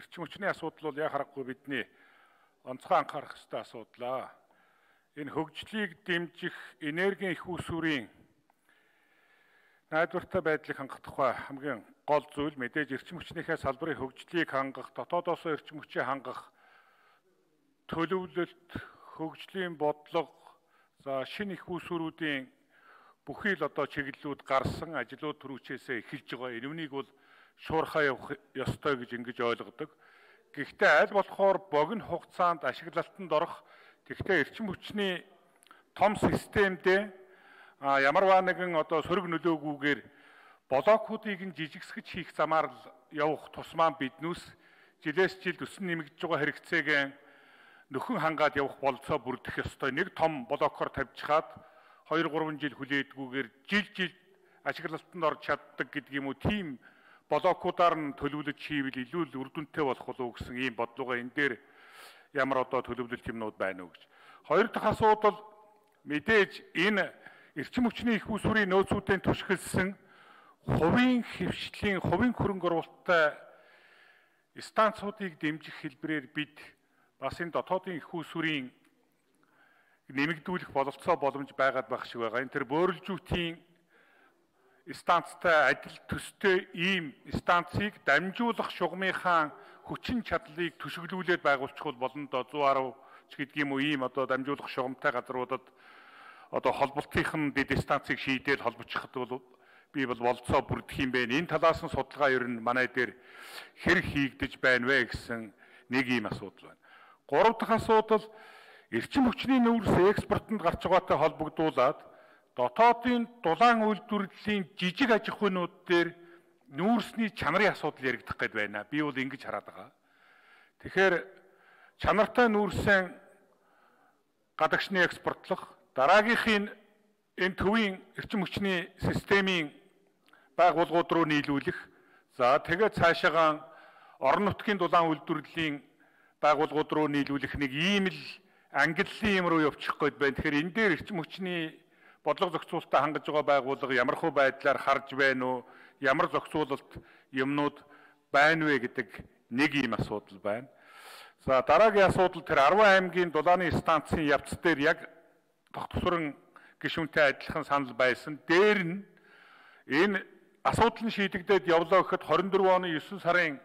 эрчим хүчний асуудал бол яа харахгүй бидний онцгой анхаарах ёстой асуудал. Энэ хөгжлийг дэмжих энергийн их усүрийн найдвартай байдлыг хангах тухай хамгийн гол зүйл мэдээж эрчим хүчнийхээ салбарын хөгжлийг хангах, дотоодоос эрчим хүчийг хангах төлөвлөлт, хөгжлийн бодлого, за шинэ их усүрүүдийн бүхий л одоо чиглэлүүд гарсан, ажлууд түрүүчээсээ эхэлж байгаа. Энэнийг бол шуурхаа явах ёстой гэж ингэж ойлгодог. Гэхдээ аль болохоор богино хугацаанд ашиглалтанд орох, тэгвэл эрчим хүчний том системдээ ямарваа нэгэн одоо сөрөг нөлөөгүйгээр блокуудыг нь жижигсгэж хийх замаар л явах тусмаа биднээс жилээс жилд өсөн нэмэгдэж байгаа хэрэгцээгээ нөхөн хангаад явах болцоо бүрдэх ёстой. Нэг том блокоор тавьчихад 2-3 жил хүлээдгүйгээр жил ашиглалтанд орж чаддаг гэдэг юм уу, тийм блокуудаар нь төлөвлөж хийвэл илүү л үр дүнтэй болох болов гэсэн ийм бодлогоо энэ дээр ямар одоо төлөвлөлт юмнууд байна уу гэж. Хоёр дахь асуудал мэдээж энэ эрчим хүчний их усүрийн нөөцүүдийн түшгэлсэн хувийн хэвшлийн, хувийн хөрөнгө оруулалттай станцуудыг дэмжих хэлбэрээр бид бас энэ дотоодын их усүрийн нэмэгдүүлэх бололцоо боломж байгаад байх шиг байгаа. Энэ төр бөөрөлжүүтийн станцтай адил төстэй ийм станцыг дамжуулах шугамынхаа хүчин чадлыг төшөглүүлээд байгуулчих болно доо 110 ч гэдэг юм уу, ийм одоо дамжуулах шугамтай газруудад одоо холболтынхан дэд станцыг шийдэл холбочиход бол би бол болцоо бүрдэх юм бэ. Энэ талаас нь судалгаа ер нь манай дээр хэрэг хийгдэж байна вэ гэсэн нэг ийм асуудал байна. Гурав дахь асуудал эрчим хүчний нүүрс экспортод гарч байгаатай холбогдуулаад дотоодын дулаан үйлдвэрлэлийн жижиг аж ахуйнууд дээр нүүрсний чанарын асуудал яригдах гээд байна. Би бол ингэж хараад байгаа. Тэгэхээр чанартай нүүрсийн гадагшны экспортлох, дараагийнхын энэ төвийн эрчим хүчний системийн байгууллагууд руу нийлүүлэх, за тэгээд цаашаагаа орон нутгийн дулаан үйлдвэрлэлийн байгууллагууд руу нийлүүлэх нэг ийм л ангиллын юм руу явчих гээд байна. Тэгэхээр энэ дээр эрчим хүчний бодлого зохицуулалтаа хангаж байгаа байгууллага ямар хөө байдлаар харж байна уу, ямар зохицуулалт юмнууд байна вэ гэдэг нэг ийм асуудал байна. За дараагийн асуудал тэр 10 аймгийн дулааны станцын явц дээр яг тогтсорон гишүүнтэй адилхан санал байсан. Дээр нь энэ асуудал нь шийдэгдээд явлаа гэхэд 24 оны 9 сарын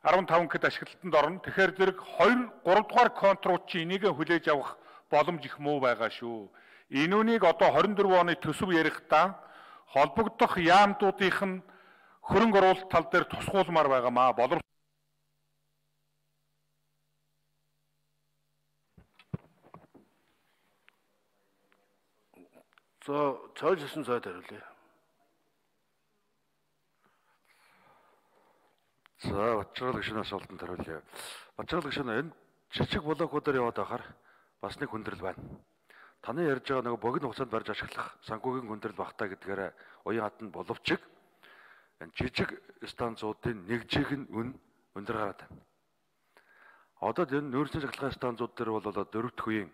15 гэд ашиглалтанд орно. Тэгэхээр зэрэг 2-3 дугаар контрууд чи энийг хүлээж авах боломж их муу байгаа шүү. Энүүнийг одоо 24 оны төсөв ярихдаа холбогдох яамдуудынх нь хөрөнгө оруулалт тал дээр тусгуулмаар байгаамаа. За, цаашсан цаад хариулъя. За, Бачрал гишүүн асуултанд хариулъя. Бачрал гишүүн энэ жижиг блокуудаар яваад байхаар бас нэг хүндрэл байна. Таны ярьж байгаа нэг богино хугацаанд барьж ашиглах санхүүгийн хүндрэл багтаа гэдгээр уян хатанд боловч энэ жижиг станцуудын нэгжийг нь өндөр гараад байна. Одоо энэ нөөцийн цахилгаан станцууд дээр бол дөрөвт үеийн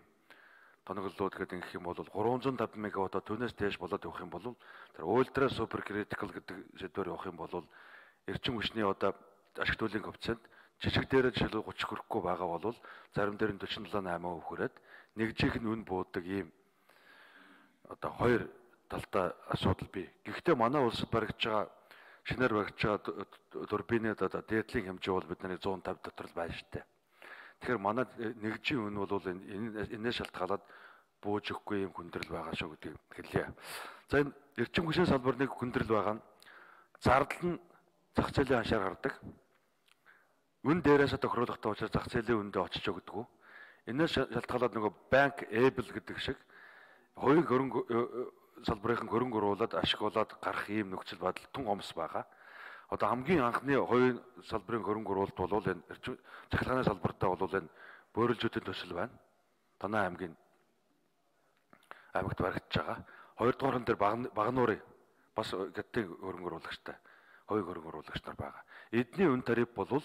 тоноглолууд гэдэг юм бол 350 мегаватт түүнээс дээш болоод явах юм бол тэр ультра супер критикал гэдэг сэдвээр явах юм бол эрчим хүчний одоо ашиг төлөвийн коэффициент жижиг дээрээ жишээлбэл 30 хүрэхгүй байгаа бол зарим дээр нь 47-8% хүрээд нэгжийнх нь үн буудаг ийм одоо хоёр талтай асуудал бий. Гэхдээ манай улсад баригдаж байгаа шинээр баригдаж байгаа турбины одоо дээдлийн хэмжээ бол бидний 150 дотор л байна шүү дээ. Тэгэхээр манай нэгжийн үн бол энэс шалтгаалаад бууж өгөхгүй юм хүндрэл байгаа шүү гэдгийг хэлье. За энэ эрчим хүчний салбар нэг хүндрэл байгаа нь зардал нь зах зээлийн ханшаар гардаг. Үн дээрээс тохируулахтай учраас зах зээлийн үндэ очиж өгдөг. Энэс шалтгаалаад нөгөө банк эбл гэдэг шиг хувийн хөрөнгө салбарын хөрөнгө оруулаад ашиглуулад гарах ийм нөхцөл байдал тун хомс байгаа. Одоо хамгийн анхны хувийн салбарын хөрөнгө оруулалт бол энэ цахилгааны салбартаа бол энэ бөөрөлжүүдийн төсөл байна. Танай аймагт баригдаж байгаа. Хоёрдугаар нь дээр Багнуурын бас гэдгийн хөрөнгө оруулагчтай хувийн хөрөнгө оруулагч нар байгаа. Эдний үн тариф бол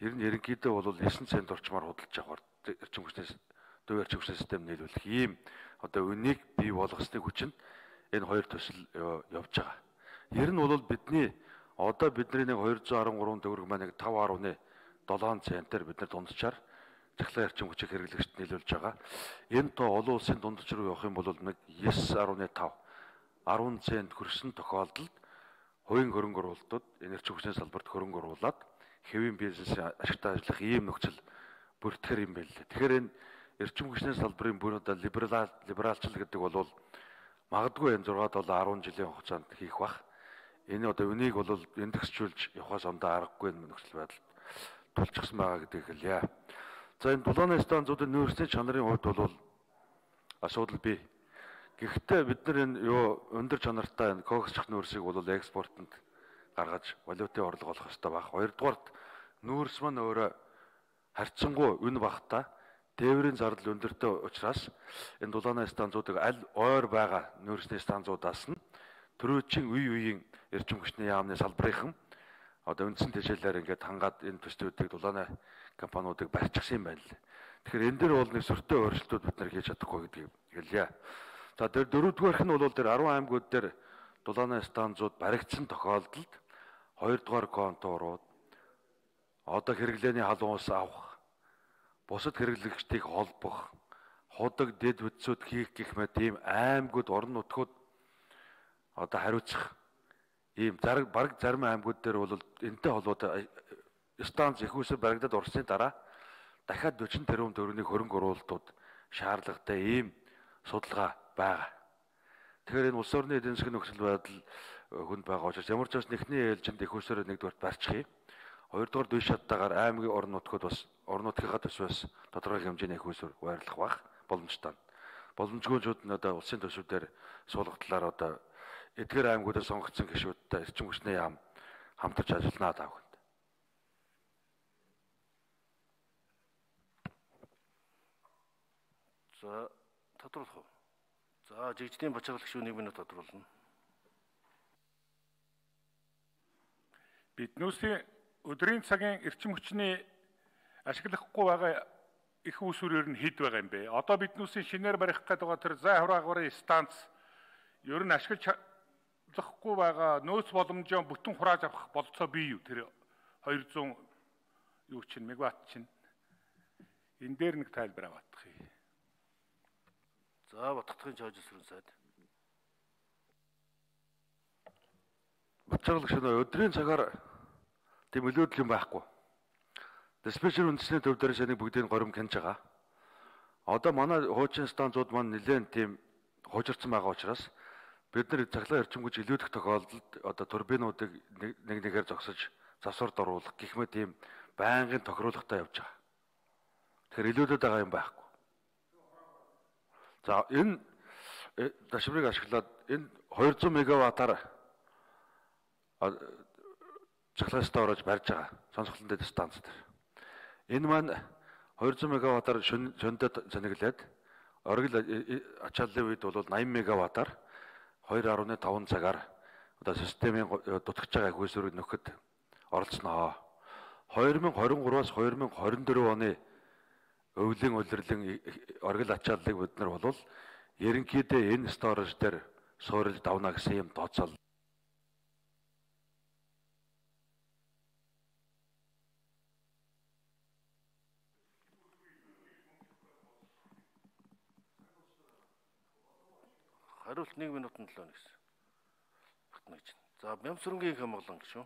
ерөнхийдөө бол 9 цент орчмоор худалдаж авах эрчим хүчний дуу эрчим хүчний систем нийлүүлэх ийм одоо үнийг бий болгосны хүчин энэ хоёр төсөл явж байгаа. Ер нь бол бидний одоо бидний нэг 213 төгрөг маань нэг 5.1 7 центээр бид нар дунджаар цахилгаан эрчим хүчийг хэрэглэгчд нийлүүлж байгаа. Энэ тоо олон улсын дундч руу явах юм бол нэг 9.5 10 цент хүрсэн тохиолдолд хувийн хөрөнгө оруулалтууд энэ эрчим хүчний салбарт хөрөнгө оруулаад хэвийн бизнесийн ашигтай ажиллах ийм нөхцөл бүртгэр юм байл. Тэгэхээр энэ эрчим хүчний салбарын бүр одоо либералчил гэдэг бол магадгүй энэ 6-7 10 жилийн хугацаанд хийх бах. Энэ одоо үнийг бол индексжүүлж явахаас ондоо аргагүй нөхцөл байдалд тулчихсан байгаа гэдгийг хэлье. За энэ дулааны станцуудын нөөцийн чанарын хувьд бол асуудал бий. Гэхдээ бид нар энэ өндөр чанартай энэ коксчих нөөцийг бол экспортод гаргаж валютын орлого олох хэрэгтэй баг. Хоёрдугаарт нөөц маань өөрөө харьцангуй үн багтаа тээврийн зардал өндөртэй учраас энэ дулааны станцуудыг аль ойр байгаа нөөцний станцуудаас нь төрөөчийн үе үеийн эрчим хүчний яамны салбарынхан одоо үндсэн тэжээлээр ингээд хангаад энэ төслүүдийг дулааны компаниудыг барьчихсан юм байна л. Тэгэхээр энэ дээр бол нэг сөртэй өөрчлөлтүүд бид нар хийж чадахгүй гэдгийг хэлье. За дөрөвдүгээрх нь бол дээр 10 аймагуд дээр дулааны станцууд баригдсан тохиолдолд 2 дугаар конторууд одоо хэрэглээний халуун ус авах, бусад хэрэглэгчдийг холбох, худаг дэд бүтцүүд хийх гэх мэт ийм аймагуд орон нутгууд одоо хариуцах ийм бараг зарим аймагуд дээр бол энэтэй холбоотой станц их усээр баригдаад орсны дараа дахиад 40 тэрбум төгрөгийн хөрөнгө оруулалтууд шаардлагатай ийм судалгаа байгаа. Тэгэхээр энэ улс орны эдийн засгийн нөхцөл байдал хүнд байгаа учраас ямар ч бас нэгний ээлжинд их усээр нэгдүгээр барьчихъя. Хоёрдугаар дүйш шаттайгаар аймгийн орон нутгууд бас орон нутгийнхаа төсвөөс тодорхой хэмжээний их усээр байрлах бах боломжтой. Боломжгүйчүүд нь одоо улсын төсвүүдээр суулгахлаар одоо эдгээр аймагуудаар сонгогдсон гишүүдтэй эрчим хүчний яам хамтарч ажилланаа таах. За тодруулах уу? За жигждийн бачаалагч шүү 1 минут тодруулна. Биднүүсийн өдрийн цагийн эрчим хүчний ашиглахгүй байгаа их усүрээр нь хэд байгаа юм бэ? Одоо биднүүсийн шинээр барих гэдэг байгаа тэр зай хураагарын станц ер нь ашиглаж чадахгүй байгаа нөөц боломжоо бүтэн хурааж авах болцоо бий юу? Тэр 200 юу чинь мегаватт чинь энэ дээр нэг тайлбар аваадах юм. За Батхдагын чойжсрын сайд. Бачаалагч өдрийн цагаар тийм өлөөдөл юм байхгүй. Диспетчер үндэсний төв дээр шанийг бүгдийг горим хянж байгаа. Одоо манай хуучин станцууд маань нэлээд тийм хуучирсан байгаа учраас бид нар цахилгаан эрчим хүч илүүдэх тохиолдолд одоо турбинуудыг нэг нэгээр зогсож завсарт оруулах гэх мэт тийм байнгын тохируулгатай явж байгаа. Тэгэхээр илүүдэд байгаа юм байхгүй. За энэ дашврыг ашиглаад энэ 200 мегаваттаар цахилгаан орож барьж байгаа сонсголон дэд станц дээр. Энэ маань 200 мегаваттаар шөнөд зониглээд оргил ачааллын үед бол 80 мегаваттаар 2.5 цагаар одоо системийн дутгаж байгаа хөөсөрөг нөхөд оролцсноо. 2023-аас 2024 оны өвлийн улирлын оргил ачааллыг бид нар бол ерөнхийдөө энэ сторож дээр суурилж давна гэсэн юм тооцоол. Хариулт 1 минутын 7 гэсэн. Батнагч. За Бямсрынгийн Хамглан гişүү.